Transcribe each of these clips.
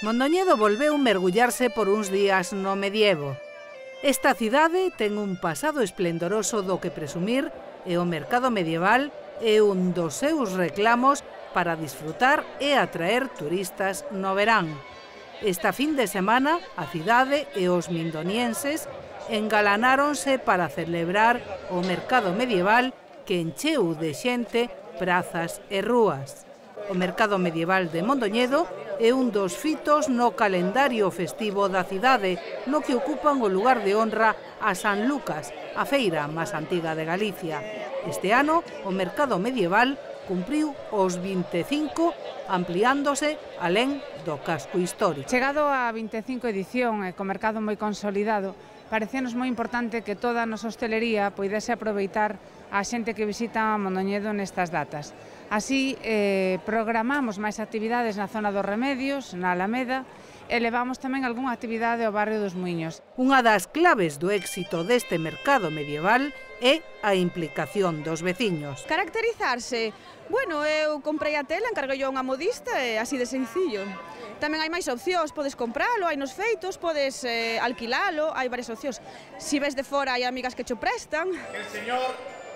Mondoñedo volveu mergullarse por uns días no medievo. Esta cidade ten un pasado esplendoroso do que presumir e o mercado medieval é un dos seus reclamos para disfrutar e atraer turistas no verán. Esta fin de semana, a cidade e os mindonienses engalanáronse para celebrar o mercado medieval que encheu de xente prazas e rúas. O mercado medieval de Mondoñedo é un dos fitos no calendario festivo da cidade, no que ocupan o lugar de honra a San Lucas, a feira máis antiga de Galicia. Este ano, o mercado medieval cumpriu os 25, ampliándose alén do casco histórico. Chegado a 25 edición e co mercado moi consolidado, parecíanos moi importante que toda a nosa hostelería poidese aproveitar a xente que visita Mondoñedo nestas datas. Así, programamos máis actividades na zona dos Remedios, na Alameda, e levamos tamén algunha actividade ao barrio dos Muiños. Unha das claves do éxito deste mercado medieval é a implicación dos veciños. Caracterizarse? Bueno, eu comprei a tela, encarguei a unha modista e así de sencillo. Tamén hai máis opcións, podes compralo, hai nos feitos, podes alquilalo, hai varias opcións. Si ves de fora hai amigas que cho prestan. Que el Señor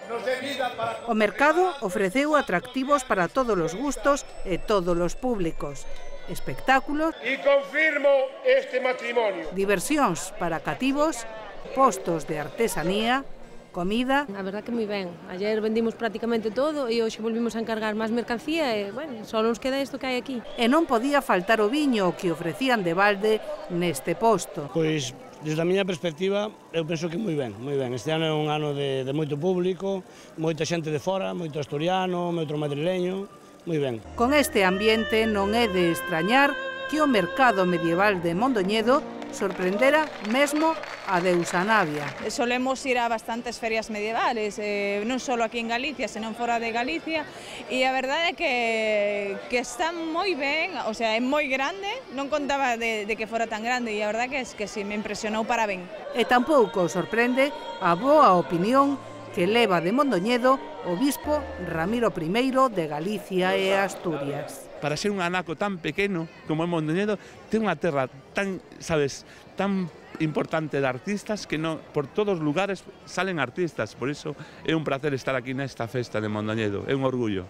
nos dé vida para... O mercado ofreceu atractivos para todos os gustos e todos os públicos. Espectáculos, Y confirmo este matrimonio. diversións para cativos, postos de artesanía, comida. A verdad que moi ben. Ayer vendimos prácticamente todo e hoxe volvimos a encargar máis mercancía e, bueno, só nos queda isto que hai aquí. E non podía faltar o viño que ofrecían de balde neste posto. Pois, desde a miña perspectiva, eu penso que moi ben, moi ben. Este ano é un ano de moito público, moita xente de fora, moito asturiano, moito madrileño, moi ben. Con este ambiente non é de extrañar que o mercado medieval de Mondoñedo sorprendera mesmo a deusa Navia. Solemos ir a bastantes ferias medievales, non só aquí en Galicia, senón fora de Galicia, e a verdade é que está moi ben, o sea, é moi grande, non contaba de que fora tan grande, e a verdade que sí, me impresionou para ben. E tampouco sorprende a boa opinión que leva de Mondoñedo o bispo Ramiro I de Galicia e Asturias. Para ser un anaco tan pequeno como é Mondoñedo, ten unha terra tan, sabes, tan importante de artistas que non, por todos os lugares salen artistas, por iso é un placer estar aquí nesta festa de Mondoñedo, é un orgullo.